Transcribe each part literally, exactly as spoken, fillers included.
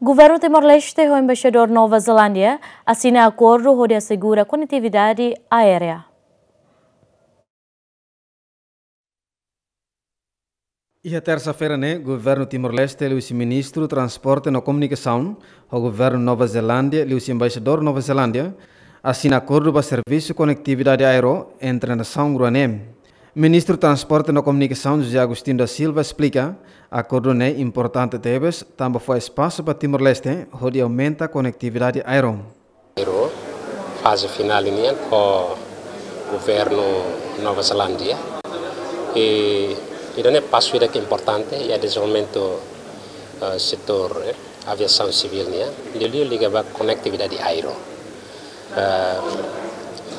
Governu Timor-Leste ho Embaixadór Nova Zelándia asina akordu hodi asegura konetividade aérea. Iha tersa-feira ne'e, Governu Timor-Leste liuhusi Ministru Transporte no Komunikasaun, ho Governu Nova Zelándia liuhusi Embaixadór Nova Zelándia, asina akordu ba servisu konetividade aéreu entre nasaun rua ne'e. Ministru Transporte no Komunikasaun José Agostinho da Silva esplika, akordu ne'e importante tebes, tanba fó espasu ba Timor-Leste hodi aumenta konetividade aéreu. Aéreu, faze finál nian ho Governu Nova Zelándia. I ida-ne'e pasu ida ke importante iha dezenvolvimentu, eh, setór, eh, aviasaun sivíl nian. Liuliu liga ba konetividade aéreu. Eh,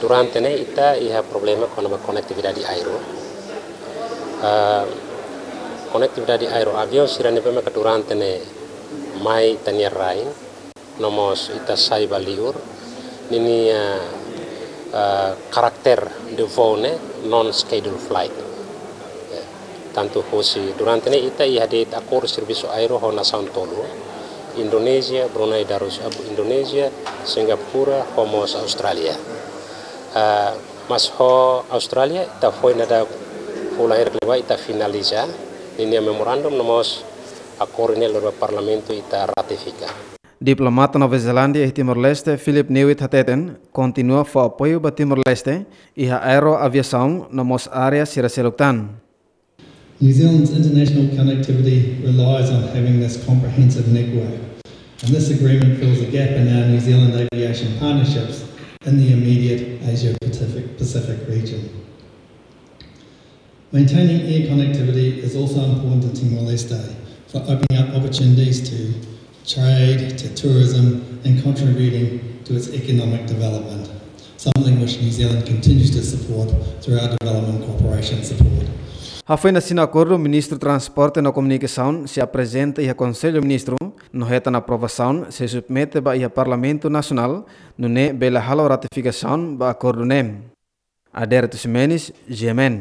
durante ne'e ita iha problema kona-ba konetividade aéreu. Eh, konetividade aéreu, aviaun sira ne'ebé maka durante ne'e mai ita-nia rain, no mós ita sai ba liur, ninia, eh, karakter de voo ne'e non-schedule flight. Ya, tantu hosi durante ne'e ita iha de'it akordu servisu aéreu ho nasaun tolu, Indonézia, Brunei Darus, eh, Indonézia, Singapura, ho mós Austrália. Eh, mas ho Austrália, ita foin daudauk fulan hirak liubá ita finaliza ninia memorandum, no mós akordu ne'e lori ba Parlamentu ita ratifika. Diplomata Nova Zelándia iha Timor-Leste, Philip Newitt hateten, kontinua fó apoiu ba Timor-Leste iha aeroaviasaun no mós área sira seluk tan. New Zealand's international connectivity relies on having this comprehensive network, and this agreement fills a gap in our New Zealand aviation partnerships in the immediate Asia Pacific, Pacific region. Maintaining air connectivity is also important to Timor-Leste for opening up opportunities to trade, to tourism, and contributing to its economic development, something which New Zealand continues to support through our development cooperation support. Hafoin asina akordu, Ministru Transporte no Komunikasaun sei aprezenta iha Konsellu Ministru, no hetan aprovasaun sei submete ba iha Parlamentu Nasionál, nune'e bele halo ratifikasaun ba akordu ne'e. Adérito Ximenes, G M N.